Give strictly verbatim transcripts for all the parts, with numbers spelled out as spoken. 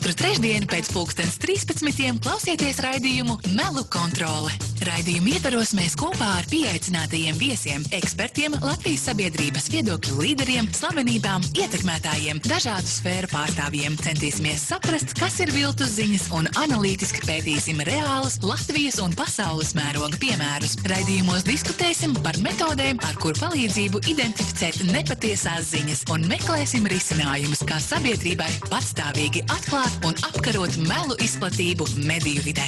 Katru trešdienu pēc pulkstens trīspadsmitiem klausieties raidījumu Melu kontrole. Raidījumu ietvaros mēs kopā ar pieaicinātajiem viesiem, ekspertiem, Latvijas sabiedrības viedokļu līderiem, slavenībām, ietekmētājiem, dažādu sfēru pārstāvjiem centīsimies saprast, kas ir viltus ziņas un analītiski pētīsim reālus Latvijas un pasaules mēroga piemērus. Raidījumos diskutēsim par metodēm, ar kur palīdzību identificēt nepatiesās ziņas un meklēsim risinājumus, kā sabiedrībai patstāvīgi atklāt un apkarot melu izplatību mediju vidē.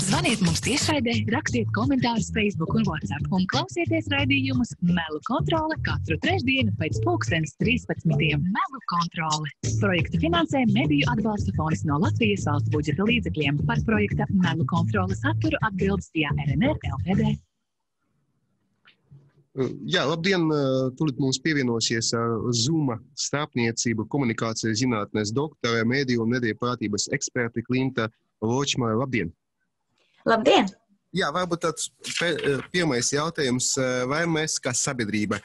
Zvaniet mums tiešraidē, rakstiet komentārus Facebook un WhatsApp un klausieties raidījumus Melu kontrole katru trešdienu pēc pulkstens trīspadsmitiem. Melu kontrole. Projektu finansē Mediju atbalsta fonds no Latvijas valsts budžeta līdzekļiem. Par projekta Melu kontrole saturu atbildes T A R N R L T D. Jā, labdien! Tūlīt mums pievienosies Zoom starpniecību komunikācijas zinātnes doktore, mediju un mediju prātības eksperte Klinta Ločmane. Labdien! Labdien! Jā, varbūt tāds pirmais jautājums, vai mēs kā sabiedrība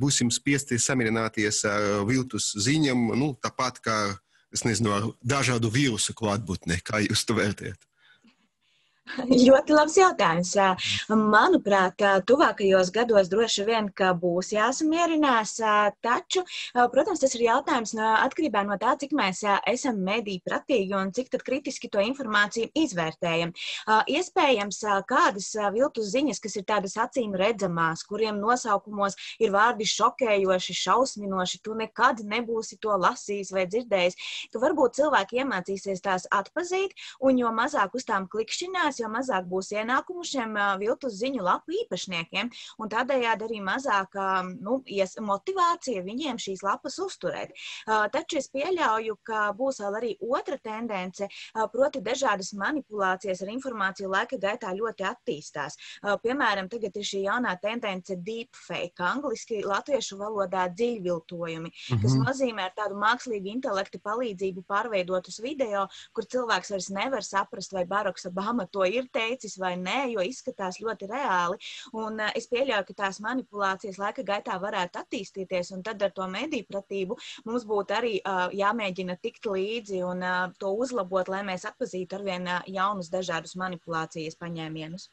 būsim spiesti samierināties ar viltus ziņām, nu, tāpat kā, es nezinu, ar dažādu vīrusu klātbūtni, kā jūs to vērtējat? Ļoti labs jautājums. Manuprāt, tuvākajos gados droši vien, ka būs jāsamierinās, taču, protams, tas ir jautājums no, atkarībā no tā, cik mēs esam mediju pratīgi un cik tad kritiski to informāciju izvērtējam. Iespējams, kādas viltus ziņas, kas ir tādas acīm redzamās, kuriem nosaukumos ir vārdi šokējoši, šausminoši, tu nekad nebūsi to lasījis vai dzirdējis, ka varbūt cilvēki iemācīsies tās atpazīt, un jo mazāk uz tām klikšķinās, jo mazāk būs ienākumu šiem viltus ziņu lapu īpašniekiem, un tādējādi arī mazāk nu, motivācija viņiem šīs lapas uzturēt. Taču es pieļauju, ka būs vēl arī otra tendence, proti dažādas manipulācijas ar informāciju laika gaitā ļoti attīstās. Piemēram, tagad ir šī jaunā tendence deepfake, angliski latviešu valodā dziļviltojumi, mm-hmm. kas nozīmē ar tādu mākslīgu intelektu palīdzību pārveidotus video, kur cilvēks vairs nevar saprast, vai Baraks Obama to ir teicis vai nē, jo izskatās ļoti reāli. Un uh, es pieļauju, ka tās manipulācijas laika gaitā varētu attīstīties, un tad ar to mediju pratību mums būtu arī uh, jāmēģina tikt līdzi un uh, to uzlabot, lai mēs atpazītu arvien uh, jaunus dažādus manipulācijas paņēmienus.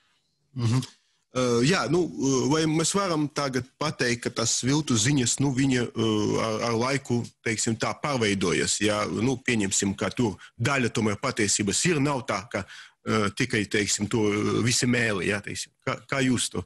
Mm-hmm. Uh, jā, nu, vai mēs varam tagad pateikt, ka tas viltus ziņas, nu, viņa uh, ar, ar laiku, teiksim, tā pārveidojas, jā, nu, pieņemsim, ka tur daļa tomēr patiesības ir, nav tā, ka uh, tikai, teiksim, to visi mēli, jā, teiksim, kā, kā jūs to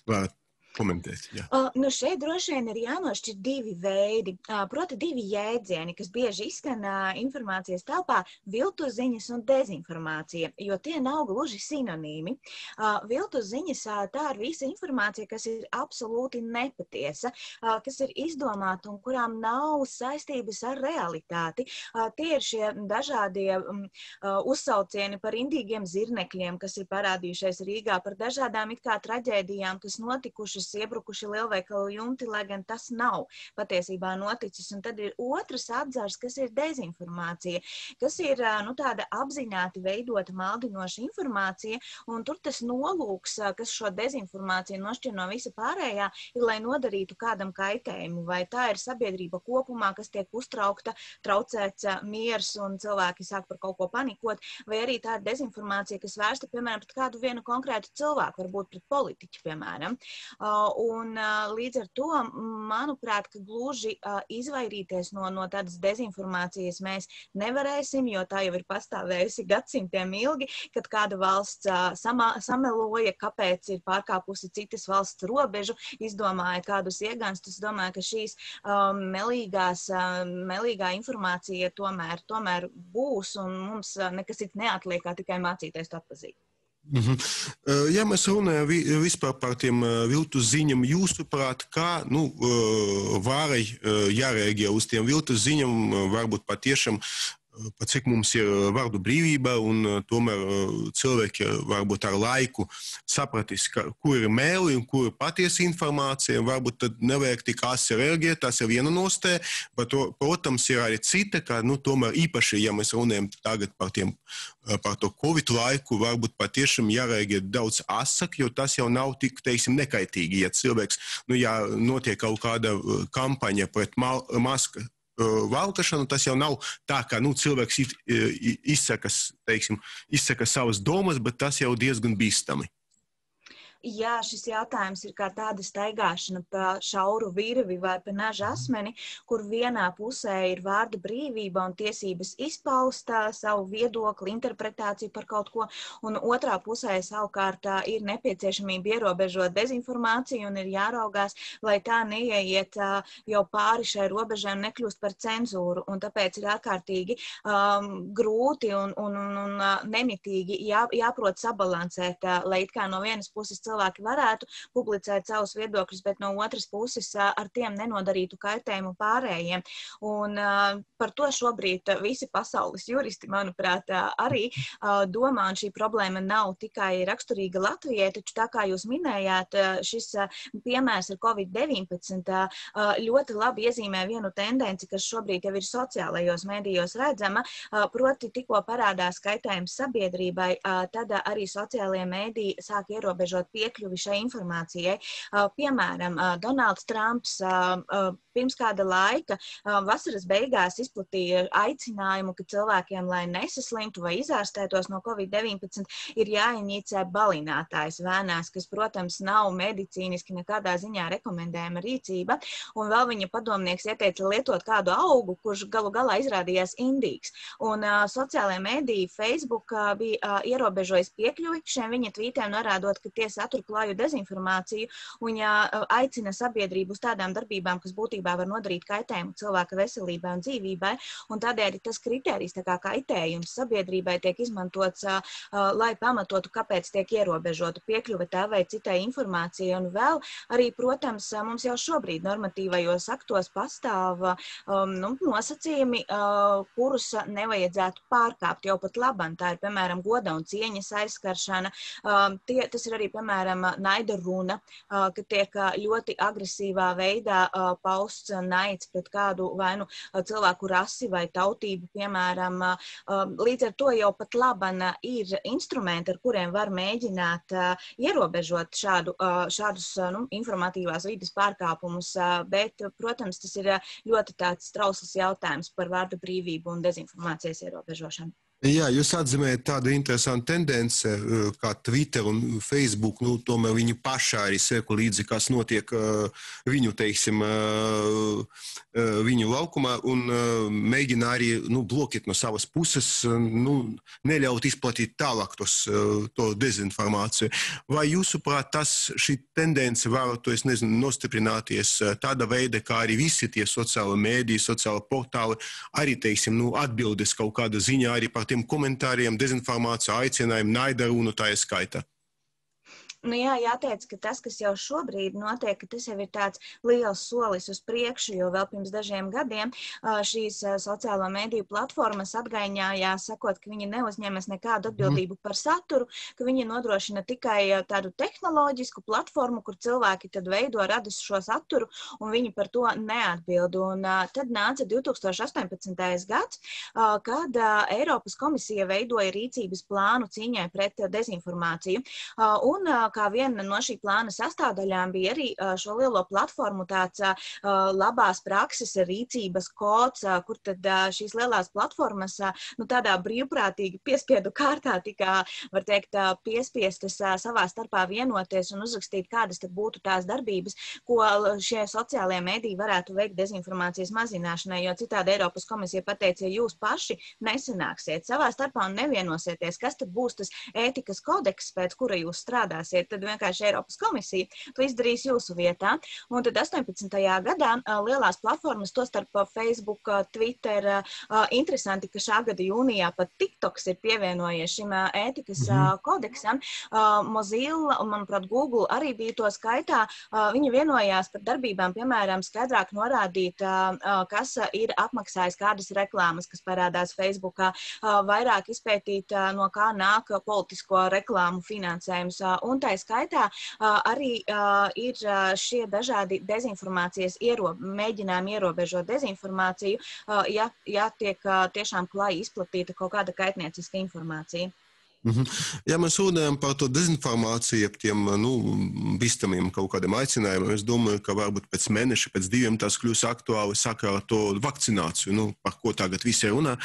varat komentēt? Jā. Uh, nu šeit droši vien ir jānošķir divi veidi, uh, proti divi jēdzieni, kas bieži izskan uh, informācijas telpā - viltus ziņas un dezinformācija, jo tie nav gluži sinonīmi. Uh, viltus ziņas uh, tā ir visa informācija, kas ir absolūti nepatiesa, uh, kas ir izdomāta un kurām nav saistības ar realitāti. Uh, tie ir šie dažādie um, uh, uzsaucieni par indīgiem zirnekļiem, kas ir parādījušies Rīgā, par dažādām it kā traģēdijām, kas notikušas, iebrukuši lielveikalu jumti, lai gan tas nav patiesībā noticis. Un tad ir otrs atzars, kas ir dezinformācija, kas ir nu, tāda apzināti veidota maldinoša informācija, un tur tas nolūks, kas šo dezinformāciju nošķir no visa pārējā, ir, lai nodarītu kādam kaitējumu, vai tā ir sabiedrība kopumā, kas tiek uztraukta, traucēts miers un cilvēki sāk par kaut ko panikot, vai arī tā ir dezinformācija, kas vērsta, piemēram, pret kādu vienu konkrētu cilvēku, varbūt pret politiķu, piemēram. Un līdz ar to, manuprāt, ka gluži izvairīties no, no tādas dezinformācijas mēs nevarēsim, jo tā jau ir pastāvējusi gadsimtiem ilgi, kad kāda valsts sama, sameloja, kāpēc ir pārkāpusi citas valsts robežu, izdomāja kādus ieganstus. Es domāju, ka šīs um, melīgās, um, melīgā informācija tomēr, tomēr būs, un mums nekas cits neatliek, kā tikai mācīties to atpazīt. Mm-hmm. Ja mēs runājam vispār par tiem viltus ziņam, jūsuprāt, kā nu, varai jārēģē uz tiem viltus ziņam, varbūt patiešām, pat cik mums ir vārdu brīvība, un tomēr cilvēki varbūt ar laiku sapratīs, ka, kur ir mēli un kur ir patiesa informācija, varbūt tad nevajag tik asi reaģēt, tas ir viena nostāja, bet, protams, ir arī cita, ka, nu, tomēr īpaši, ja mēs runājam tagad par, tiem, par to Covid laiku, varbūt patiešām jārēģē daudz asāk, jo tas jau nav tik, teiksim, nekaitīgi, ja cilvēks, nu, ja notiek kaut kāda kampaņa pret mal, maska, valkāšanu, tas jau nav tā, ka nu, cilvēks izsaka, teiksim, izsaka savas domas, bet tas jau diezgan bīstami. Jā, šis jautājums ir kā tāda staigāšana pa šauru virvi vai pa naža asmeni, kur vienā pusē ir vārda brīvība un tiesības izpaust savu viedokli, interpretāciju par kaut ko, un otrā pusē savukārt ir nepieciešamība ierobežot dezinformāciju un ir jāraugās, lai tā neieiet jau pāri šai robežai un nekļūst par cenzūru, un tāpēc ir ārkārtīgi um, grūti un, un, un, un nemitīgi jā, jāprot sabalansēt, lai it kā no vienas puses cilvēki varētu publicēt savus viedokļus, bet no otras puses ar tiem nenodarītu kaitējumu pārējiem. Un par to šobrīd visi pasaules juristi, manuprāt, arī domā, un šī problēma nav tikai raksturīga Latvijai, taču tā kā jūs minējāt, šis piemērs ar covid deviņpadsmit ļoti labi iezīmē vienu tendenci, kas šobrīd jau ir sociālajos medijos redzama, proti tikko parādās kaitējums sabiedrībai, tad arī sociālajie mediji sāk ierobežot piekļuvi šai informācijai. Piemēram, Donalds Trumps pirms kāda laika vasaras beigās izplatīja aicinājumu, ka cilvēkiem, lai nesaslimtu vai izārstētos no covid deviņpadsmit, ir jāinicē balinātājs vēnās, kas, protams, nav medicīniski nekādā ziņā rekomendējama rīcība. Un vēl viņa padomnieks ieteica lietot kādu augu, kurš galu galā izrādījās indīgs. Un uh, sociālajie mediji Facebook uh, bija uh, ierobežojis piekļuvi šiem viņa tvītiem, norādot, ka tie satur klāju dezinformāciju un ja, uh, aicina sabiedrību uz tādām darbībām, kas būtībā var nodarīt kaitējumu cilvēka veselībai un dzīvībai. Un tādēļ tas kriterijs, tā kā kaitējums sabiedrībai tiek izmantots, uh, uh, lai pamatotu, kāpēc tiek ierobežota piekļuve tā vai citai informācijai. Un vēl arī, protams, mums jau šobrīd normatīvajos aktos pastāv um, nu, nosacījumi, uh, kurus nevajadzētu pārkāpt jau pat labam. Tā ir, piemēram, goda un cieņas aizskaršana. Um, tie, tas ir arī, piemēram, naida runa, uh, ka tiek ļoti agresīvā veidā uh, pausts naids pret kādu vai nu cilvēku rasi vai tautību, piemēram. Līdz ar to jau pat laban ir instrumenti, ar kuriem var mēģināt ierobežot šādu, šādus nu, informatīvās vides pārkāpumus, bet, protams, tas ir ļoti tāds trausls jautājums par vārdu brīvību un dezinformācijas ierobežošanu. Jā, jūs atzīmējat tādu interesantu tendenci, kā Twitter un Facebook, nu, tomēr viņi paši arī seko līdzi, kas notiek viņu, teiksim, viņu laukumā un mēģina arī, nu, blokēt no savas puses, nu, neļaut izplatīt tālāk tos, to dezinformāciju. Vai jūsuprāt, tas, šī tendence var, to es nezinu, nostiprināties tāda veida, kā arī visi tie sociāli mēdī, sociāli portāli, arī, teiksim, nu, atbildes kaut kāda ziņā arī par tiem komentāriem, dezinformāciju, aicinājumu, naida runu tā skaitā? Nu jā, jāteic, ka tas, kas jau šobrīd notiek, ka tas jau ir tāds liels solis uz priekšu, jo vēl pirms dažiem gadiem šīs sociālo mediju platformas atgaiņājās, sakot, ka viņi neuzņemas nekādu atbildību par saturu, ka viņi nodrošina tikai tādu tehnoloģisku platformu, kur cilvēki tad veido, rada šo saturu, un viņi par to neatbild. Un tad nāca divi tūkstoši astoņpadsmitais gads, kad Eiropas komisija veidoja rīcības plānu cīņai pret dezinformāciju. Un kā viena no šī plāna sastāvdaļām bija arī šo lielo platformu tāds labās prakses rīcības kods, kur tad šīs lielās platformas nu, tādā brīvprātīgi piespiedu kārtā tika, var teikt, piespiestas savā starpā vienoties un uzrakstīt, kādas tad būtu tās darbības, ko šie sociālie mediji varētu veikt dezinformācijas mazināšanai, jo citādi Eiropas komisija pateica, ja jūs paši nesanāksiet savā starpā un nevienosieties, kas tad būs tas ētikas kodeks, pēc kura jūs strādāsiet, tad vienkārši Eiropas komisija to izdarīs jūsu vietā. Un tad astoņpadsmitajā gadā lielās platformas, to starp Facebook, Twitter, interesanti, ka šā gada jūnijā pat TikToks ir pievienojies šim ētikas mm-hmm. kodeksam. Mozilla un, manuprāt, Google arī bija to skaitā. Viņi vienojās par darbībām, piemēram, skaidrāk norādīt, kas ir apmaksājis kādas reklāmas, kas parādās Facebookā, vairāk izpētīt, no kā nāk politisko reklāmu finansējums. Un tā skaitā arī ir šie dažādi dezinformācijas ierob, mēģinājumi ierobežot dezinformāciju, ja, ja tiek tiešām klāji izplatīta kaut kāda kaitnieciska informācija. Mhm. Ja mēs runājam par to dezinformāciju, ap tiem nu, bīstamiem kaut kādiem aicinājumiem, es domāju, ka varbūt pēc mēneša, pēc diviem tas kļūs aktuāli sakarā ar to vakcināciju, nu, par ko tagad visi runā.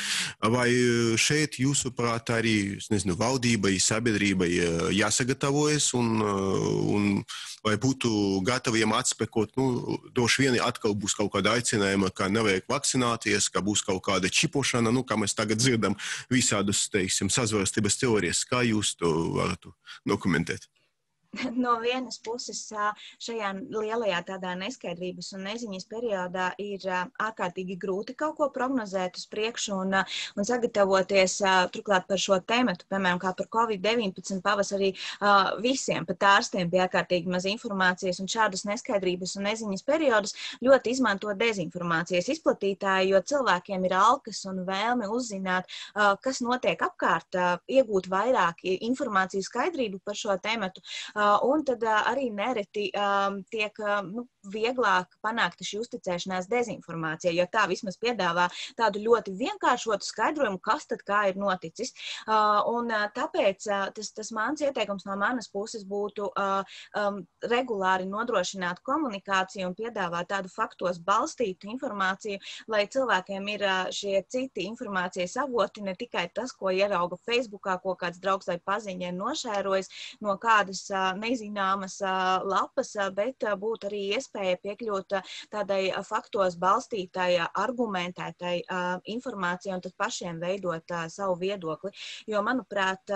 Vai šeit, jūsuprāt, arī, es nezinu, valdībai, sabiedrībai jāsagatavojas un, un vai būtu gataviem atspekot, nu, droši vien atkal būs kaut kāda aicinājuma, ka nevajag vakcināties, ka būs kaut kāda čipošana, nu, kā mēs tagad dzirdam visādus, teiksim, sazvērstības teorijas. Kā jūs to varat dokumentēt? No vienas puses šajā lielajā tādā neskaidrības un neziņas periodā ir ārkārtīgi grūti kaut ko prognozēt uz priekšu un, un sagatavoties turklāt par šo tēmatu, piemēram, kā par covid deviņpadsmit pavasarī visiem, pat ārstiem bija ārkārtīgi maz informācijas un šādas neskaidrības un neziņas periodus ļoti izmanto dezinformācijas izplatītāji, jo cilvēkiem ir alkas un vēlme uzzināt, kas notiek apkārt, iegūt vairāk informāciju skaidrību par šo tēmatu. Un tad arī nereti um, tiek nu, vieglāk panākta šī uzticēšanās dezinformācija, jo tā vismaz piedāvā tādu ļoti vienkāršotu skaidrojumu, kas tad kā ir noticis. Uh, un tāpēc uh, tas, tas mans ieteikums no manas puses būtu uh, um, regulāri nodrošināt komunikāciju un piedāvāt tādu faktos balstītu informāciju, lai cilvēkiem ir uh, šie citi informācijas avoti, ne tikai tas, ko ierauga Facebookā, ko kāds draugs vai paziņa ir nošērojis no kādas uh, nezināmas lapas, bet būtu arī iespēja piekļūt tādai faktos balstītai, argumentētai informācijai un tad pašiem veidot savu viedokli. Jo, manuprāt,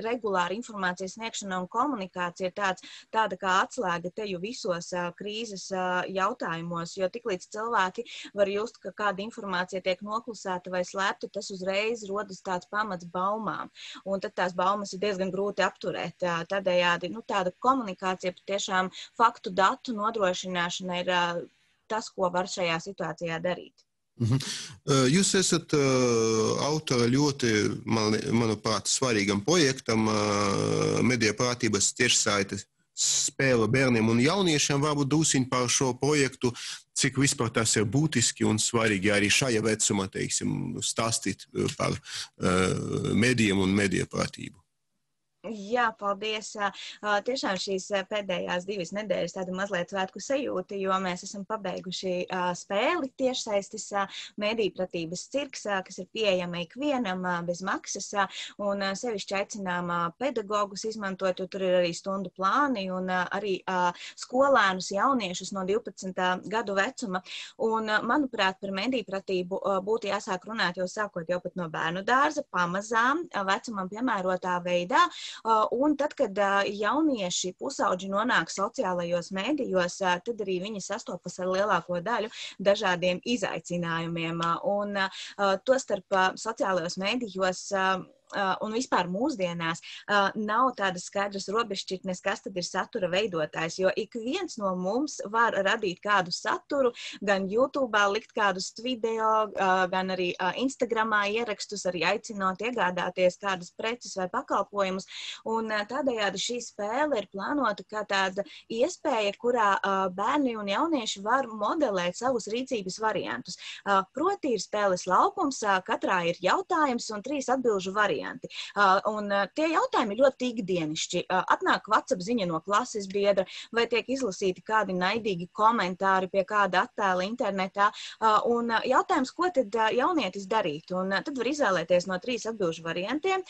regulāra informācijas sniegšana un komunikācija ir tāds, tāda kā atslēga teju visos krīzes jautājumos, jo tiklīdz cilvēki var just, ka kāda informācija tiek noklusēta vai slēpta, tas uzreiz rodas tāds pamats baumām. Un tad tās baumas ir diezgan grūti apturēt. Tādējādi, nu, tāda komunikācija, tiešām faktu datu nodrošināšana ir uh, tas, ko var šajā situācijā darīt. Mhm. Jūs esat uh, autora ļoti, man, manuprāt, svarīgam projektam uh, mediju prātības tiešsaites spēle bērniem un jauniešiem. Varbūt drusciņ par šo projektu, cik vispār tas ir būtiski un svarīgi arī šajā vecumā, teiksim, stāstīt par uh, medijiem un mediju prātību. Jā, paldies. Tiešām šīs pēdējās divas nedēļas tāda mazliet svētku sajūta, jo mēs esam pabeiguši spēli tiešsaistes medijpratības cirks, kas ir pieejama ikvienam bez maksas, un sevišķi aicinām pedagogus izmantot, jo tur ir arī stundu plāni un arī skolēnus jauniešus no divpadsmit gadu vecuma. Un, manuprāt, par medijpratību būtu jāsāk runāt jau sākot jau pat no bērnu dārza, pamazām, vecumam piemērotā veidā. Un tad, kad jaunieši pusauģi nonāk sociālajos mēdījos, tad arī viņi sastopas ar lielāko daļu dažādiem izaicinājumiem. Un tostarp sociālajos mēdījos un vispār mūsdienās nav tādas skaidras robežšķirtnes, kas tad ir satura veidotājs, jo ik viens no mums var radīt kādu saturu, gan YouTube'ā likt kādus video, gan arī Instagramā ierakstus, arī aicinot iegādāties kādas preces vai pakalpojumus, un tādējādi šī spēle ir plānota kā tāda iespēja, kurā bērni un jaunieši var modelēt savus rīcības variantus. Proti ir spēles laukums, katrā ir jautājums un trīs atbilžu varianti. Un tie jautājumi ir ļoti ikdienišķi. Atnāk WhatsApp ziņa no klases biedra, vai tiek izlasīti kādi naidīgi komentāri pie kāda attēla internetā. Un jautājums, ko tad jaunietis darīt? Un tad var izvēlēties no trīs atbilžu variantiem,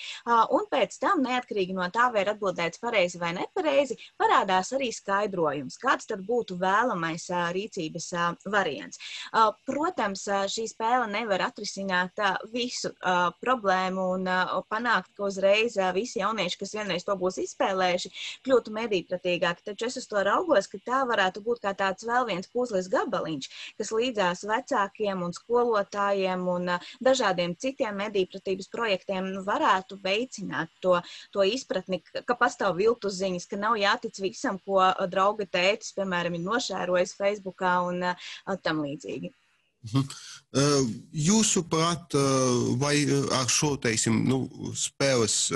un pēc tam, neatkarīgi no tā, vai ir atbildēts pareizi vai nepareizi, parādās arī skaidrojums, kāds tad būtu vēlamais rīcības variants. Protams, šī spēle nevar atrisināt visu problēmu un panākt, ka uzreiz visi jaunieši, kas vienreiz to būs izspēlējuši, kļūtu medijpratīgāki. Taču es uz to raugos, ka tā varētu būt kā tāds vēl viens puzles gabaliņš, kas līdzās vecākiem un skolotājiem un dažādiem citiem medijpratības projektiem varētu veicināt to, to izpratni, ka pastāv viltus ziņas, ka nav jātic visam, ko drauga tētis, piemēram, ir nošērojis Facebookā un tam līdzīgi. Jūsuprāt, vai ar šo, teiksim, nu, spēles,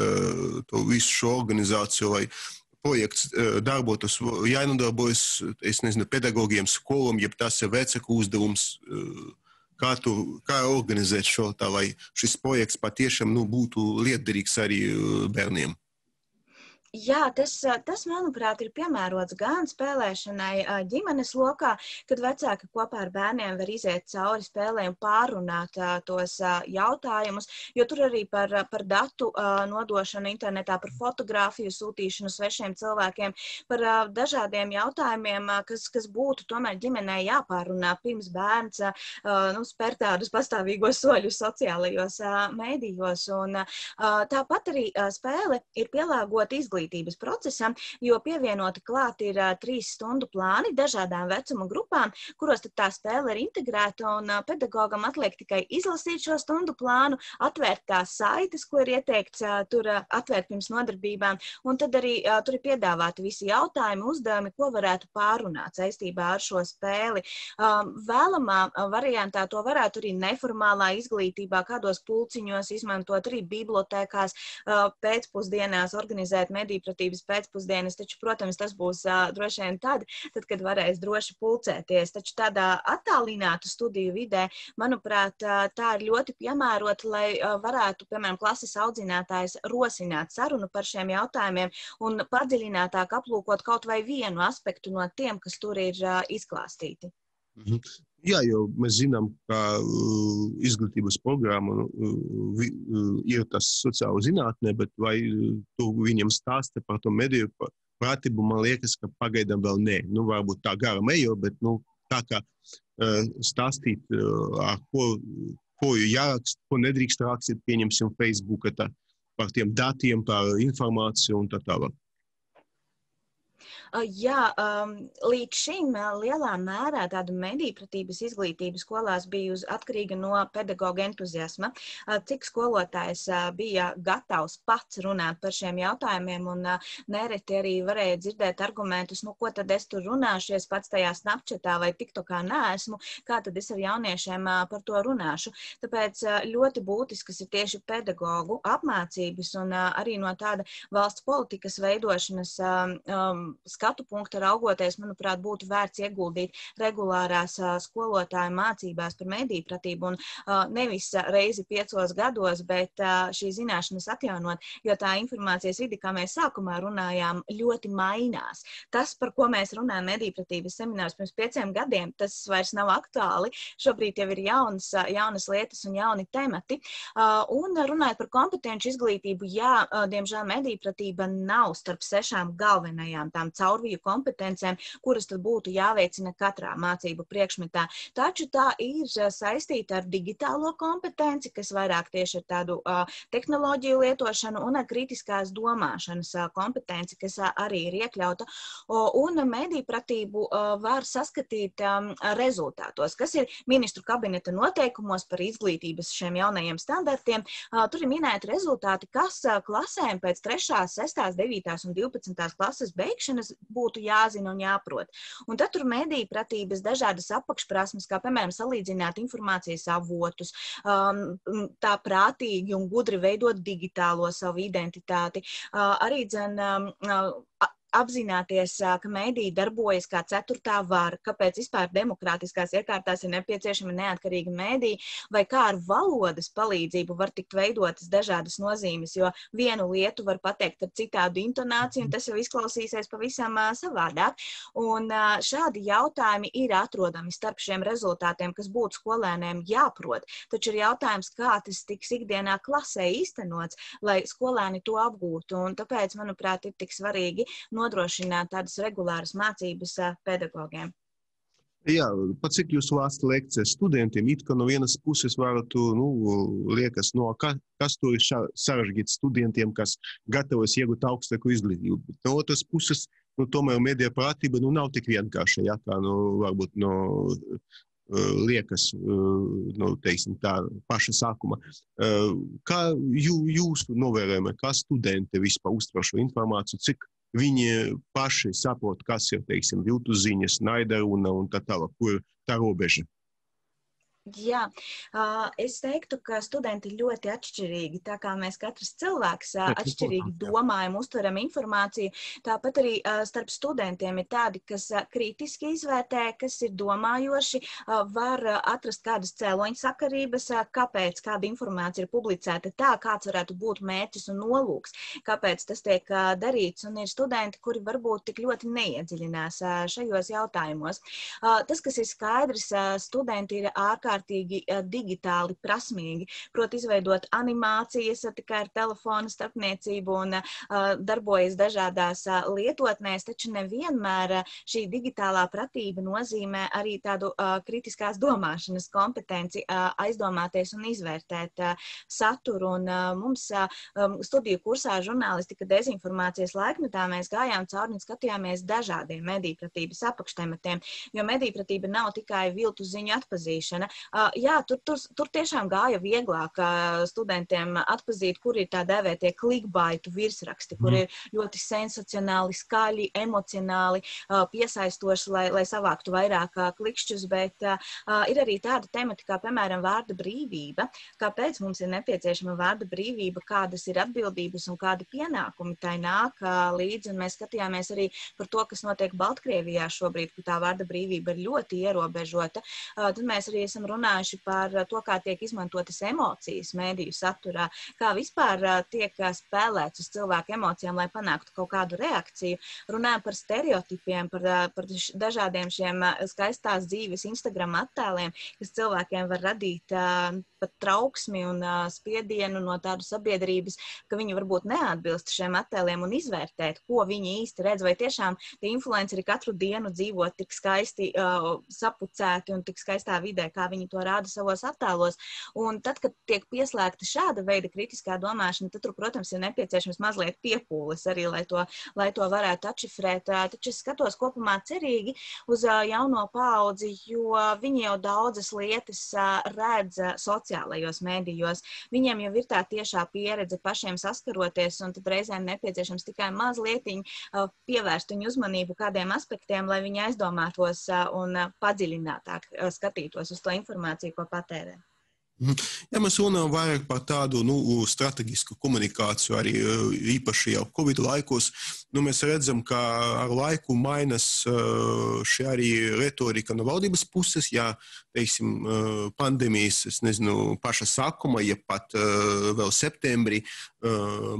to visu šo organizāciju vai projekts darbotos, jānodarbojas, es nezinu, pedagogiem, skolām, ja tas ir vecāku uzdevums, kā, tu, kā organizēt šo tā, lai šis projekts patiešām nu, būtu lietderīgs arī bērniem? Jā, tas, tas, manuprāt, ir piemērots gan spēlēšanai ģimenes lokā, kad vecāki kopā ar bērniem var iziet cauri spēlēm, pārunāt tos jautājumus, jo tur arī par, par datu nodošanu internetā, par fotogrāfiju sūtīšanu svešiem cilvēkiem, par dažādiem jautājumiem, kas, kas būtu tomēr ģimenei jāpārunā pirms bērns nu, spēr tādus pastāvīgos soļus sociālajos mēdījos. Un, tāpat arī spēle ir pielāgota izglītības procesam, jo pievienoti klāt ir uh, trīs stundu plāni dažādām vecuma grupām, kuros tad tā spēle ir integrēta, un uh, pedagogam atliek tikai izlasīt šo stundu plānu, atvērt tās saites, ko ir ieteikts uh, tur uh, atvērt pirms nodarbībām, un tad arī uh, tur ir piedāvāti visi jautājumi, uzdevumi, ko varētu pārunāt saistībā ar šo spēli. Um, vēlamā uh, variantā to varētu arī neformālā izglītībā, kādos pulciņos izmantot, arī bibliotēkās, uh, pēcpusdienās organizēt medīpratības pēcpusdienas, taču, protams, tas būs uh, droši vien tad, tad, kad varēs droši pulcēties. Taču tādā attālinātu studiju vidē, manuprāt, uh, tā ir ļoti piemērota, lai uh, varētu, piemēram, klases audzinātājs rosināt sarunu par šiem jautājumiem un padziļinātāk aplūkot kaut vai vienu aspektu no tiem, kas tur ir uh, izklāstīti. Mhm. Jā, jo mēs zinām, ka uh, izglītības programma uh, vi, uh, ir tas sociāla zinātne, bet vai uh, tu viņam stāsti par to mediju pratību, man liekas, ka pagaidām vēl nē. Nu, varbūt tā garam ejo, bet nu, tā kā uh, stāstīt, uh, ar ko, ko jārakst, ko nedrīkst rakstīt, pieņemsim Facebooka tā, par tiem datiem, par informāciju un tā tālāk. Jā, um, līdz šim lielā mērā tāda medīpratības izglītība skolās bija uz, atkarīga no pedagoga entuziasma, cik skolotājs bija gatavs pats runāt par šiem jautājumiem, un nereti arī varēja dzirdēt argumentus, nu, ko tad es tur runāšu, es pats tajā Snapchatā vai TikTokā neesmu, kā tad es ar jauniešiem par to runāšu. Tāpēc ļoti būtiskas ir tieši pedagogu apmācības un arī no tāda valsts politikas veidošanas um, skatu punktu raugoties, manuprāt, būtu vērts ieguldīt regulārās uh, skolotāju mācībās par medīpratību un uh, nevis reizi piecos gados, bet uh, šī zināšanas atjaunot, jo tā informācijas vidi, kā mēs sākumā runājām, ļoti mainās. Tas, par ko mēs runājam medīpratības seminārus pirms pieciem gadiem, tas vairs nav aktuāli. Šobrīd jau ir jaunas, jaunas lietas un jauni temati. Uh, un runājot par kompetenci izglītību, jā, uh, diemžēl medīpratība nav starp sešām galvenajām tām caurviju kompetencēm, kuras tad būtu jāveicina katrā mācību priekšmetā. Taču tā ir saistīta ar digitālo kompetenci, kas vairāk tieši ar tādu uh, tehnoloģiju lietošanu un ar kritiskās domāšanas uh, kompetenci, kas uh, arī ir iekļauta. Uh, un medīpratību uh, var saskatīt um, rezultātos, kas ir ministru kabineta noteikumos par izglītības šiem jaunajiem standartiem. Uh, tur ir minēti rezultāti, kas uh, klasēm pēc trešās, sestās, devītās un divpadsmitās klases beigšanas būtu jāzina un jāprot. Un tad tur medīpratības dažādas apakšprasmes, kā piemēram salīdzināt informācijas avotus, um, tā prātīgi un gudri veidot digitālo savu identitāti. Uh, arī dzen, um, uh, apzināties, ka mediji darbojas kā ceturtā vara, kāpēc vispār demokrātiskās iekārtās ir nepieciešami neatkarīgi mediji, vai kā ar valodas palīdzību var tikt veidotas dažādas nozīmes, jo vienu lietu var pateikt ar citādu intonāciju, un tas jau izklausīsies pavisam savādāk. Un šādi jautājumi ir atrodami starp šiem rezultātiem, kas būtu skolēniem jāprot, taču ir jautājums, kā tas tiks ikdienā klasē īstenots, lai skolēni to apgūtu, un tāpēc, manuprāt, ir tik svarīgi nodrošināt tādas regulāras mācības pedagogiem. Jā, pat cik jūs lāsta lekcijas studentiem, it kā no vienas puses varētu, nu, liekas, no ka, kas to ir sarežģīt studentiem, kas gatavojas iegūt augstāku izglītību. No otras puses, nu, tomēr medija prātība, nu, nav tik vienkārša, ja, kā, nu, varbūt, no, liekas, nu, teiksim, tā paša sākuma. Kā jū, jūsu novērojumi, kā studenti vispār uztver šo informāciju, cik viņi paši saprot, kas ir, teiksim, viltus ziņas, naida runa un tā tālāk, kur tā robeža? Jā, es teiktu, ka studenti ir ļoti atšķirīgi, tā kā mēs katrs cilvēks atšķirīgi domājam, uztveram informāciju. Tāpat arī starp studentiem ir tādi, kas kritiski izvērtē, kas ir domājoši, var atrast kādas cēloņa sakarības, kāpēc kāda informācija ir publicēta tā, kāds varētu būt mērķis un nolūks, kāpēc tas tiek darīts, un ir studenti, kuri varbūt tik ļoti neiedziļinās šajos jautājumos. Tas, kas ir skaidrs, studenti ir ārkārtīgi digitāli prasmīgi, proti izveidot animācijas tikai ar telefonu starpniecību un uh, darbojas dažādās uh, lietotnēs, taču nevienmēr uh, šī digitālā pratība nozīmē arī tādu uh, kritiskās domāšanas kompetenci uh, aizdomāties un izvērtēt uh, saturu. Un uh, mums uh, um, studiju kursā žurnālistika dezinformācijas laikmetā mēs gājām cauri un skatījāmies dažādiem medijpratības apakštematiem, jo medijpratība nav tikai viltu ziņu atpazīšana. Uh, jā, tur, tur, tur tiešām gāja vieglāk uh, studentiem atpazīt, kur ir tā dēvētie clickbaitu virsraksti, kur mm. ir ļoti sensacionāli, skaļi, emocionāli, uh, piesaistoši, lai, lai savāktu vairāk uh, klikšķus, bet uh, ir arī tāda temati, kā, piemēram, vārda brīvība. Kāpēc mums ir nepieciešama vārda brīvība, kādas ir atbildības un kādi pienākumi tai nāk uh, līdzi, un mēs skatījāmies arī par to, kas notiek Baltkrievijā šobrīd, ka tā vārda brīvība ir ļoti ierobežota. Uh, tad mēs arī esam runājuši par to, kā tiek izmantotas emocijas mēdīju saturā, kā vispār tiek spēlēts uz cilvēku emocijām, lai panāktu kaut kādu reakciju. Runājam par stereotipiem, par, par dažādiem šiem skaistās dzīves Instagram attēliem, kas cilvēkiem var radīt uh, pat trauksmi un uh, spiedienu no tādu sabiedrības, ka viņi varbūt neatbilst šiem attēliem un izvērtēt, ko viņi īsti redz, vai tiešām tie influenceri katru dienu dzīvo tik skaisti uh, sapucēti un tik skaistā vidē, kā viņi to rāda savos attēlos. Un tad, kad tiek pieslēgta šāda veida kritiskā domāšana, tad tur, protams, ir nepieciešams mazliet piepūles arī, lai to, lai to varētu atšifrēt. Taču es skatos kopumā cerīgi uz jauno paudzi, jo viņi jau daudzas lietas redz sociālajos mēdījos. Viņiem jau ir tā tiešā pieredze pašiem saskaroties, un tad reizēm nepieciešams tikai mazlietiņ pievērst viņu uzmanību kādiem aspektiem, lai viņi aizdomātos un padziļinātāk skatītos uz to informāciju, ko patērē. Ja mēs runājam vairāk par tādu nu, strateģisku komunikāciju, arī īpaši jau Covid laikos, nu, mēs redzam, ka ar laiku mainas šī arī retorika no valdības puses, ja, teiksim, pandēmijas, es nezinu, paša sākuma, ja pat vēl septembrī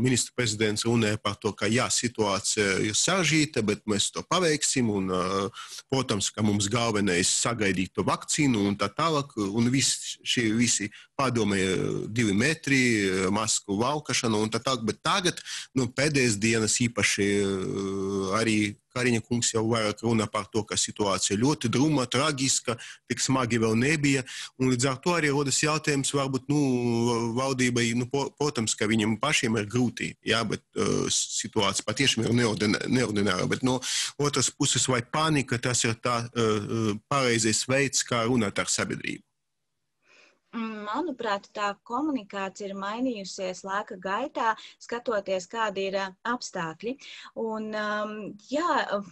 ministra prezidents runāja par to, ka jā, situācija ir sarežģīta, bet mēs to paveiksim, un, protams, ka mums galvenais sagaidīt to vakcīnu un tā tālāk, un visi, šie visi padomēja divi metri, masku valkašanu un tā tālāk, bet tagad, nu, pēdējās dienas īpaši arī Kariņa kungs jau vairāk runā par to, ka situācija ļoti druma, tragiska, tik smagi vēl nebija, un līdz ar to arī rodas jautājums, varbūt, nu, valdībai, nu, protams, ka viņam pašiem ir grūti, jā, bet uh, situācija patiešām ir neordināra, bet no otras puses vai panika, tas ir tā uh, pareizais veids, kā runāt ar sabiedrību. Manuprāt, tā komunikācija ir mainījusies laika gaitā, skatoties, kādi ir apstākļi. Un, um, jā,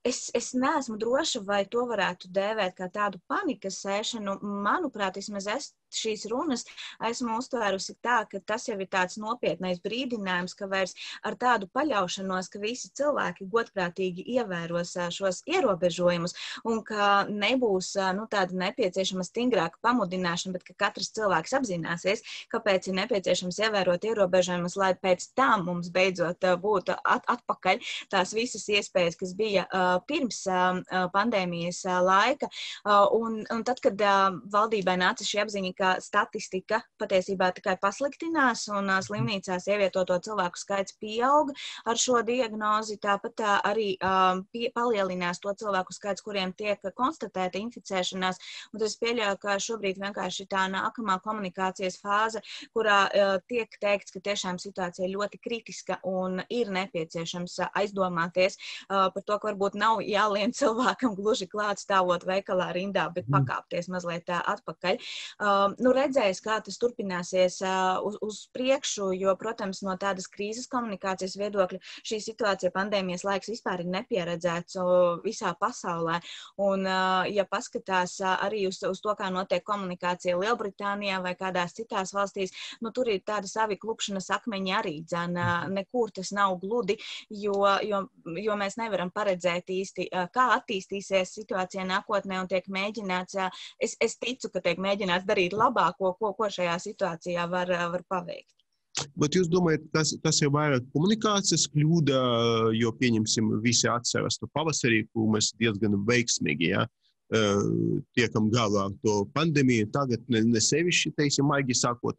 es, es neesmu droša, vai to varētu dēvēt kā tādu panikas sēšanu. Manuprāt, vismaz es šīs runas esmu uztvērusi tā, ka tas jau ir tāds nopietnais brīdinājums, ka vairs ar tādu paļaušanos, ka visi cilvēki godprātīgi ievēros šos ierobežojumus un ka nebūs nu, tāda nepieciešama stingrāka pamudināšana, bet ka katrs cilvēks apzināsies, kāpēc ir nepieciešams ievērot ierobežojumus, lai pēc tam mums beidzot būtu at atpakaļ tās visas iespējas, kas bija uh, pirms uh, pandēmijas uh, laika. Uh, un, un tad, kad uh, valdībai nāca šī apziņa, ka statistika patiesībā tikai pasliktinās un uh, slimnīcās ievietoto cilvēku skaits pieaug ar šo diagnozi, tāpat uh, arī uh, pie, palielinās to cilvēku skaits, kuriem tiek konstatēta inficēšanās. Un es pieļauju, ka šobrīd vienkārši tā nākamā komunikācijas fāze, kurā uh, tiek teikts, ka tiešām situācija ir ļoti kritiska un ir nepieciešams aizdomāties uh, par to, ka varbūt nav jālien cilvēkam gluži klāt stāvot veikalā rindā, bet pakāpties mazliet uh, atpakaļ. Uh, nu, redzējis, kā tas turpināsies uz, uz priekšu, jo, protams, no tādas krīzes komunikācijas viedokļa šī situācija pandēmijas laiks vispār ir nepieredzēts visā pasaulē. Un, ja paskatās arī uz, uz to, kā notiek komunikācija Lielbritānijā vai kādās citās valstīs, nu, tur ir tādi savi klupšanas akmeņi arī dzēn. Nekur tas nav gludi, jo, jo, jo mēs nevaram paredzēt īsti, kā attīstīsies situācija nākotnē un tiek mēģināts, es, es ticu, ka tiek mēģināts darīt labāko, ko, ko šajā situācijā var, var paveikt. Bet jūs domājat, tas, tas ir vairāk komunikācijas kļūda, jo, pieņemsim, visi atceras to pavasarī, kur mēs diezgan veiksmīgi, ja, tiekam galā ar to pandēmiju, tagad ne, ne sevišķi, teiksim, maigi sakot.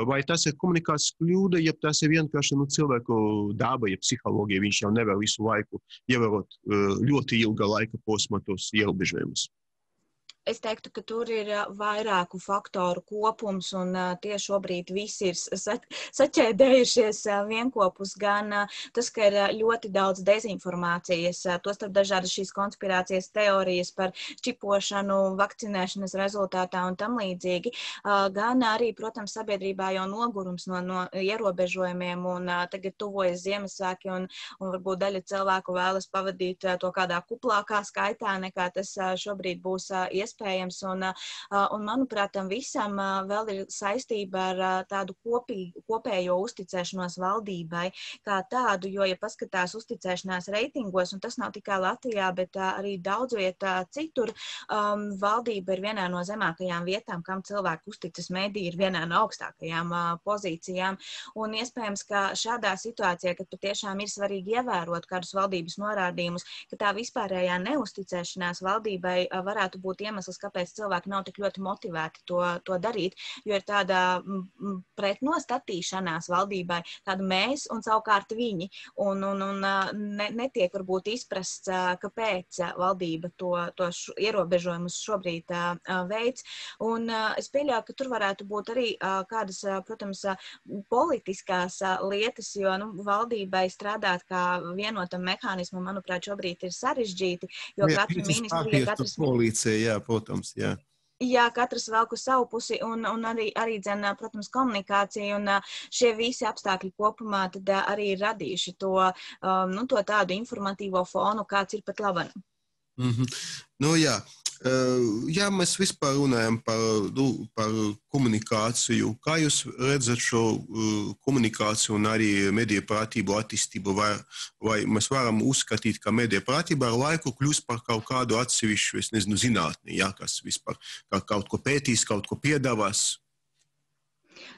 Vai tas ir komunikācijas kļūda, ja tas ir vienkārši nu, cilvēku daba, ja psiholoģija, viņš jau nevar visu laiku ievērot ļoti ilga laika posma tos ierobežojumus? Es teiktu, ka tur ir vairāku faktoru kopums, un tieši šobrīd visi ir saķēdējušies vienkopus, gan tas, ka ir ļoti daudz dezinformācijas, tostarp dažādas šīs konspirācijas teorijas par čipošanu, vakcinēšanas rezultātā un tam līdzīgi, gan arī, protams, sabiedrībā jau nogurums no, no ierobežojumiem, un tagad tuvojas Ziemassvētki, un, un varbūt daļa cilvēku vēlas pavadīt to kādā kuplākā skaitā, nekā tas šobrīd būs iespējams. Iespējams, un, un, manuprāt, tam visam vēl ir saistība ar tādu kopīgu, kopējo uzticēšanos valdībai kā tādu, jo, ja paskatās uzticēšanās reitingos, un tas nav tikai Latvijā, bet arī daudz vietā citur, um, valdība ir vienā no zemākajām vietām, kam cilvēku uzticas mediji ir vienā no augstākajām uh, pozīcijām, un iespējams, ka šādā situācijā, kad patiešām ir svarīgi ievērot kādus valdības norādījumus, ka tā vispārējā neusticēšanās valdībai uh, varētu būt iemesls, kāpēc cilvēki nav tik ļoti motivēti to, to darīt, jo ir tāda pretnostatīšanās valdībai, tāda mēs un savukārt viņi, un, un, un ne, netiek varbūt izprasts, kāpēc valdība to, to š, ierobežojumus šobrīd veids, un es pieļauju, ka tur varētu būt arī kādas, protams, politiskās lietas, jo nu, valdībai strādāt kā vienotam mehānismam, manuprāt, šobrīd ir sarežģīti, jo jā, katra ministrija, katrs... Polīcija, jā, protams, jā. Jā, katrs velk uz savu pusi, un, un arī, arī dzen, protams, komunikācija, un šie visi apstākļi kopumā tad arī ir radījuši to, um, nu, to tādu informatīvo fonu, kāds ir pat labanam. Mm-hmm. Nu, jā. Ja mēs vispār runājam par, nu, par komunikāciju, kā jūs redzat šo komunikāciju un arī mediju pratību attīstību, vai, vai mēs varam uzskatīt, ka mediju pratība ar laiku kļūst par kaut kādu atsevišķu, es nezinu, zinātni, ja, kas vispār kā kaut ko pētīs, kaut ko piedāvās?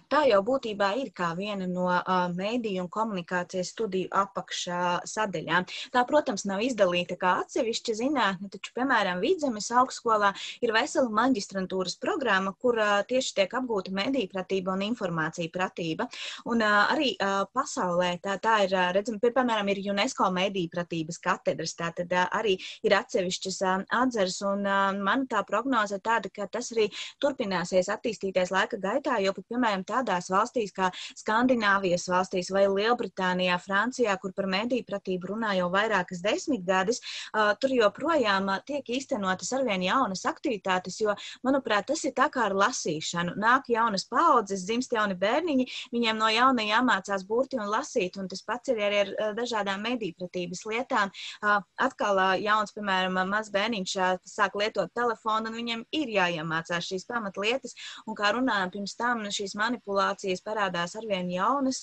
Tā jau būtībā ir kā viena no uh, mēdīju un komunikācijas studiju apakšā sadaļām. Tā, protams, nav izdalīta kā atsevišķa zinātne, taču, piemēram, Vidzemes augstskolā ir vesela maģistrantūras programma, kur uh, tieši tiek apgūta mediju pratība un informācija pratība. Un uh, arī uh, pasaulē tā, tā ir, uh, redzam, piemēram, ir UNESCO mediju pratības katedras, tā tad uh, arī ir atsevišķas uh, atzares, un uh, man tā prognoze tāda, ka tas arī turpināsies attīstīties laika gaitā, jo pat, piemēram, tā tādās valstīs kā Skandināvijas valstīs vai Lielbritānijā, Francijā, kur par mediju pratību runā jau vairākas desmitgades, uh, tur joprojām uh, tiek īstenotas arvien jaunas aktivitātes, jo, manuprāt, tas ir tā kā ar lasīšanu. Nāk jaunas paaudzes, dzimst jauni bērniņi, viņiem no jauna jāmācās burti un lasīt, un tas pats ir arī ar uh, dažādām mediju pratības lietām. Uh, atkal uh, jauns, piemēram, maz bērniņš uh, sāk lietot telefonu, un viņiem ir jāiemācās šīs pamatlietas, un kā runājam pirms tam, šīs manipulācijas manipulācijas parādās arvien jaunas,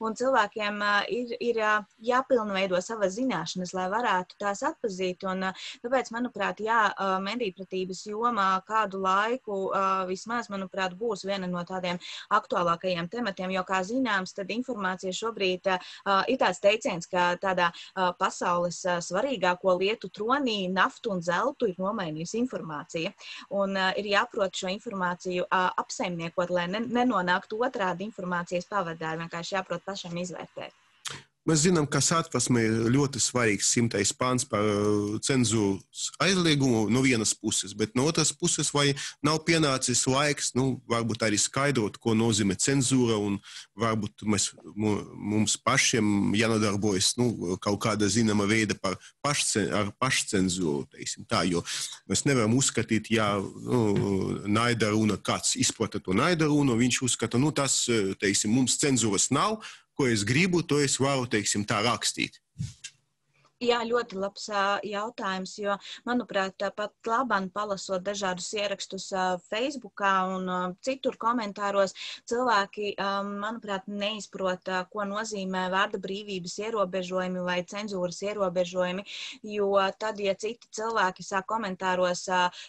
un cilvēkiem ir, ir jāpilnveido savas zināšanas, lai varētu tās atpazīt. Un tāpēc, manuprāt, jā, medijpratības jomā kādu laiku vismaz, manuprāt, būs viena no tādiem aktuālākajiem tematiem, jo, kā zināms, tad informācija šobrīd ir tāds teiciens, ka tādā pasaules svarīgāko lietu tronī naftu un zeltu ir nomainījusi informācija. Un ir jāprot šo informāciju apsaimniekot, lai nenonāktu otrādi informācijas pavadāri, vienkārši jāprot pašam izvērtēt. Mēs zinām, ka Satversmē ir ļoti svarīgs simtais pāns par cenzūras aizliegumu no vienas puses, bet no otras puses vai nav pienācis laiks, nu, varbūt arī skaidrot, ko nozīmē cenzūra, un varbūt mēs, mums pašiem jānodarbojas, nu, kaut kāda zināma veida par pašcen, ar pašcenzūru, teiksim tā, jo mēs nevaram uzskatīt, ja nu, naida runa, kāds izplata to naida runu, viņš uzskata, nu, tas, teiksim, mums cenzūras nav, ko es gribu, to es varu, teiksim, tā rakstīt. Jā, ļoti labs jautājums, jo, manuprāt, pat labāk palasot dažādus ierakstus Facebookā un citur komentāros, cilvēki, manuprāt, neizprot, ko nozīmē vārda brīvības ierobežojumi vai cenzūras ierobežojumi, jo tad, ja citi cilvēki sāk komentāros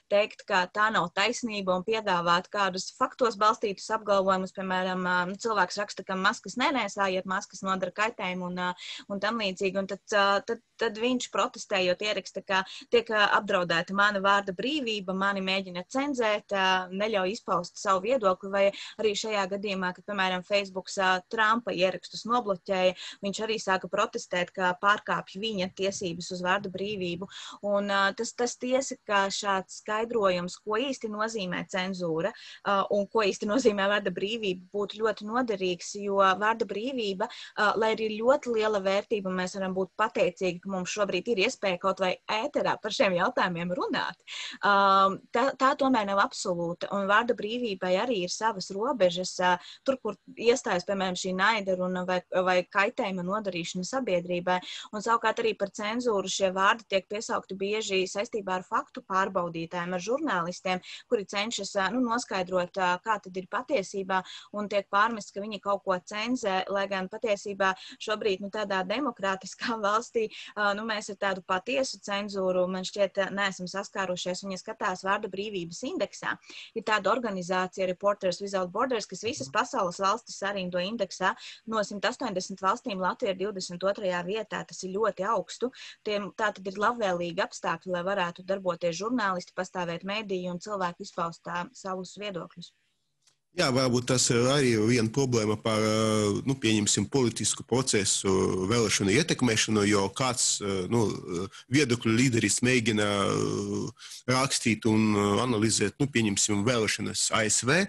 teikt, ka tā nav taisnība un piedāvāt kādus faktos balstītus apgalvojumus, piemēram, cilvēks raksta, ka maskas nenēsājiet, maskas nodara kaitējumu un, un tam līdzīgi, un tad, tad tad viņš protestējot ieraksta, ka tiek apdraudēta mana vārda brīvība, mani mēģina cenzēt, neļauj izpaust savu viedokli, vai arī šajā gadījumā, kad, piemēram, Facebooks Trumpa ierakstus nobloķēja, viņš arī sāka protestēt, ka pārkāpj viņa tiesības uz vārda brīvību. Un tas, tas tiesa, ka šāds skaidrojums, ko īsti nozīmē cenzūra un ko īsti nozīmē vārda brīvība, būtu ļoti noderīgs, jo vārda brīvība, lai arī ļoti liela vērtība, mēs varam būt pateicīgi, mums šobrīd ir iespēja kaut vai ēterā par šiem jautājumiem runāt. Tā, tā tomēr nav absolūta, un vārda brīvībai arī ir savas robežas, tur, kur iestājas, piemēram, šī naida runa vai, vai kaitējuma nodarīšana sabiedrībai, un savukārt arī par cenzūru šie vārdi tiek piesaukti bieži saistībā ar faktu pārbaudītājiem, ar žurnālistiem, kuri cenšas nu, noskaidrot, kā tad ir patiesībā, un tiek pārmests, ka viņi kaut ko cenzē, lai gan patiesībā šobrīd nu, tādā demokrātiskā valstī nu, mēs ar tādu patiesu cenzūru, man šķiet, neesam saskārušies, un ja skatās vārda brīvības indeksā, ir tāda organizācija Reporters Without Borders, kas visas pasaules valstis sarindo indeksā, no simt astoņdesmit valstīm Latvija ir divdesmit otrajā vietā, tas ir ļoti augstu, Tiem, tā tad ir labvēlīgi apstākļi, lai varētu darboties žurnālisti, pastāvēt mediji un cilvēki izpaust tā, savus viedokļus. Jā, varbūt tas ir arī viena problēma par, nu, pieņemsim, politisku procesu vēlēšanu ietekmēšanu, jo kāds, nu, viedokļu līderis mēģina rakstīt un analizēt, nu, pieņemsim, vēlēšanas A S V,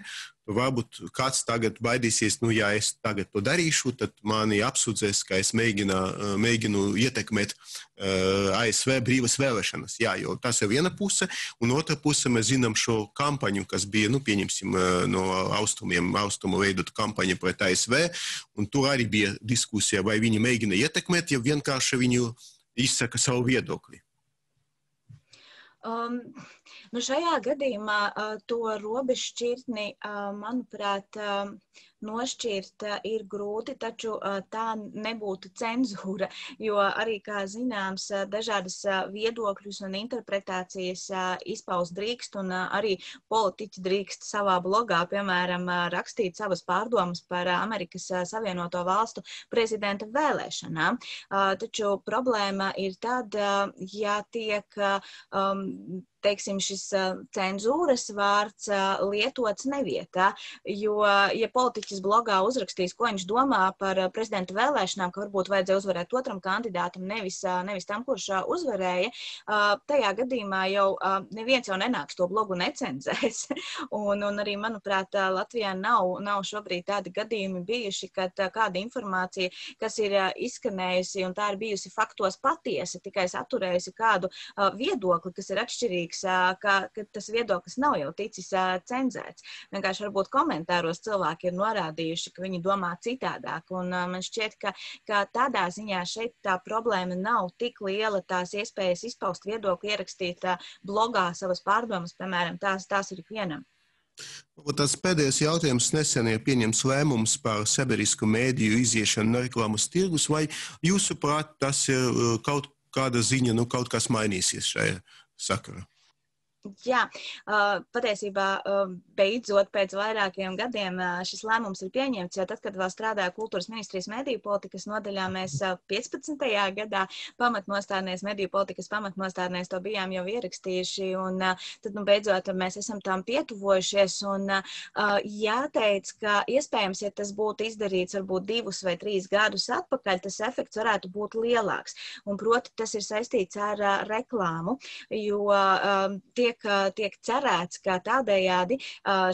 varbūt kāds tagad baidīsies, nu, ja es tagad to darīšu, tad mani apsūdzēs, ka es mēģina, mēģinu ietekmēt uh, A S V brīvas vēlēšanas. Jā, jo tas ir viena puse, un otra puse mēs zinām šo kampaņu, kas bija, nu, pieņemsim, no austrumiem, austrumu veidot kampaņu pret A S V, un tur arī bija diskusija, vai viņi mēģina ietekmēt, ja vienkārši viņu izsaka savu viedokli. Um, nu šajā gadījumā uh, to robežšķirtni, uh, manuprāt, uh, nošķirt uh, ir grūti, taču uh, tā nebūtu cenzūra, jo arī, kā zināms, uh, dažādas uh, viedokļus un interpretācijas uh, izpaust drīkst, un uh, arī politiķi drīkst savā blogā, piemēram, uh, rakstīt savas pārdomas par uh, Amerikas uh, Savienoto Valstu prezidenta vēlēšanām. Uh, taču problēma ir tad, uh, ja tiek uh, um, teiksim, šis cenzūras vārds lietots nevietā, jo, ja politiķis blogā uzrakstīs, ko viņš domā par prezidenta vēlēšanām, ka varbūt vajadzēja uzvarēt otram kandidātam, nevis, nevis tam, kurš uzvarēja, tajā gadījumā jau neviens jau nenāks to blogu necenzēs. Un, un arī, manuprāt, Latvijā nav, nav šobrīd tādi gadījumi bijuši, kad kāda informācija, kas ir izskanējusi un tā ir bijusi faktos patiesa, tikai saturējusi kādu viedokli, kas ir atšķirīgs, ka, ka tas viedoklis nav jau ticis cenzēts. Vienkārši varbūt komentāros cilvēki ir norādījuši, ka viņi domā citādāk. Un man šķiet, ka, ka tādā ziņā šeit tā problēma nav tik liela, tās iespējas izpaust viedokli, ierakstīt blogā savas pārdomas, piemēram, tās, tās ir ikvienam. Tas pēdējais jautājums nesen ir pieņems lēmums par sabiedrisku mēdīju iziešanu no reklāmas tirgus, vai jūsuprāt tas ir kaut kāda ziņa, nu kaut kas mainīsies šajā sakarā? Jā, patiesībā beidzot pēc vairākiem gadiem šis lēmums ir pieņemts, jo tad, kad vēl strādāja Kultūras ministrijas mediju politikas nodaļā, mēs piecpadsmitajā gadā pamatnostādnēs, mediju politikas pamatnostādnēs to bijām jau ierakstījuši, un tad, nu, beidzot mēs esam tam pietuvojušies, un jāteic, ka iespējams, ja tas būtu izdarīts varbūt divus vai trīs gadus atpakaļ, tas efekts varētu būt lielāks, un proti tas ir saistīts ar reklāmu, jo tie Tiek, tiek cerēts, ka tādējādi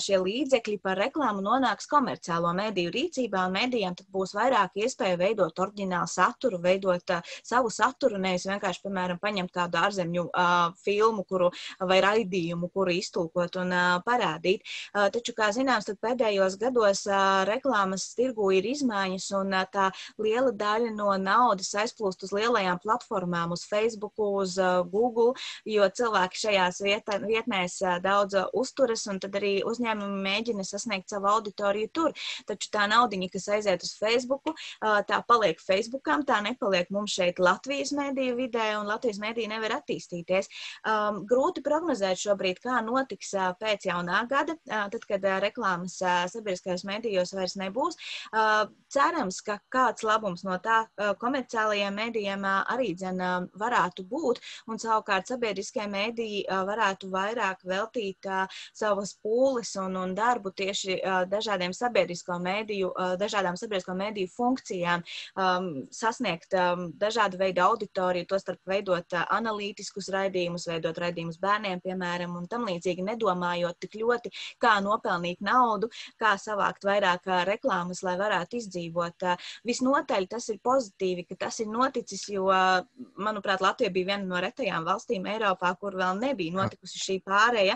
šie līdzekļi par reklāmu nonāks komerciālo mediju rīcībā, un medijiem tad būs vairāk iespēja veidot oriģinālu saturu, veidot uh, savu saturu, nevis vienkārši, piemēram, paņemt kādu ārzemju uh, filmu kuru, vai raidījumu, kuru iztulkot un uh, parādīt. Uh, taču, kā zināms, tad pēdējos gados uh, reklāmas tirgu ir izmaiņas, un uh, tā liela daļa no naudas aizplūst uz lielajām platformām, uz Facebook, uz uh, Google, jo cilvēki šajās vietās vietnēs daudz uzturas, un tad arī uzņēmumi mēģina sasniegt savu auditoriju tur. Taču tā naudiņa, kas aiziet uz Facebooku, tā paliek Facebookam, tā nepaliek mums šeit Latvijas mediju vidē, un Latvijas mediju nevar attīstīties. Um, grūti prognozēt šobrīd, kā notiks pēc jaunā gada, tad, kad reklāmas sabiedriskajos medijos vairs nebūs. Uh, cerams, ka kāds labums no tā komerciālajiem medijiem arī dzen varētu būt, un savukārt sabiedriskie mediji varētu vairāk veltīt uh, savas pūles un, un darbu tieši uh, dažādiem sabiedrisko mediju, uh, dažādām sabiedrisko mediju funkcijām, um, sasniegt um, dažādu veidu auditoriju, to starp veidot uh, analītiskus raidījumus, veidot raidījumus bērniem, piemēram, un tam līdzīgi nedomājot tik ļoti, kā nopelnīt naudu, kā savākt vairāk uh, reklāmas, lai varētu izdzīvot. Uh, visnotaļ tas ir pozitīvi, ka tas ir noticis, jo, uh, manuprāt, Latvija bija viena no retajām valstīm Eiropā, kur vēl nebija notikusi šī pāreja,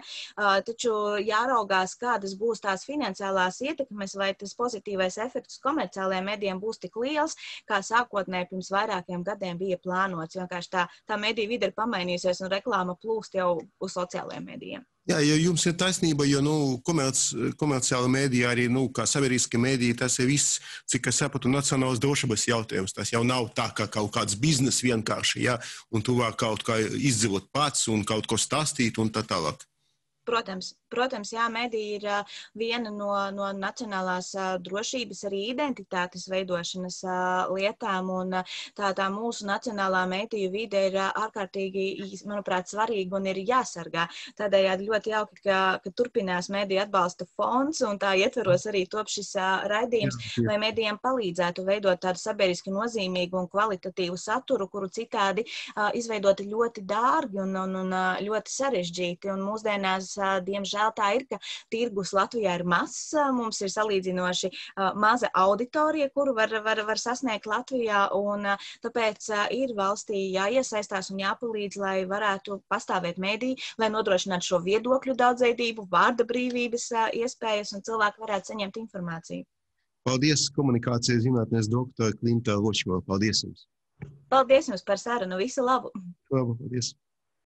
taču jāraugās, kādas būs tās finansiālās ietekmes, vai tas pozitīvais efekts komerciālajiem medijiem būs tik liels, kā sākotnēji pirms vairākiem gadiem bija plānots. Vienkārši tā, tā mediju vide ir pamainījusies un reklāma plūst jau uz sociālajiem medijiem. Jā, jo jums ir taisnība, jo nu, komerc, komerciāla mēdīja arī, nu, kā sabiedriska mēdīja, tas ir viss, cik es sapratu, nacionālas drošības jautājums. Tas jau nav tā, kā kaut kāds biznes vienkārši, ja, un tu vari kaut kā izdzīvot pats un kaut ko stāstīt un tā tālāk. Protams, protams, jā, mediji ir uh, viena no, no nacionālās uh, drošības arī identitātes veidošanas uh, lietām, un uh, tā, tā mūsu nacionālā mediju vide ir uh, ārkārtīgi, manuprāt, svarīga un ir jāsargā. Tādējādi ļoti jauki, ka, ka turpinās mediju atbalsta fonds, un tā ietveros arī top šis uh, raidījums, jā, jā. Lai medijiem palīdzētu veidot tādu sabiedriski nozīmīgu un kvalitatīvu saturu, kuru citādi uh, izveidoti ļoti dārgi un, un, un uh, ļoti sarežģīti, un mūsdienās diemžēl tā ir, ka tirgus Latvijā ir mazs, mums ir salīdzinoši maza auditorija, kuru var, var, var sasniegt Latvijā, un tāpēc ir valstī jāiesaistās un jāpalīdz, lai varētu pastāvēt mediji, lai nodrošinātu šo viedokļu daudzveidību, vārda brīvības iespējas, un cilvēki varētu saņemt informāciju. Paldies, komunikācijas zinātnes doktora Klimta Ločmala. Paldies jums. Paldies jums par sarunu. Visu labu. Labu, paldies.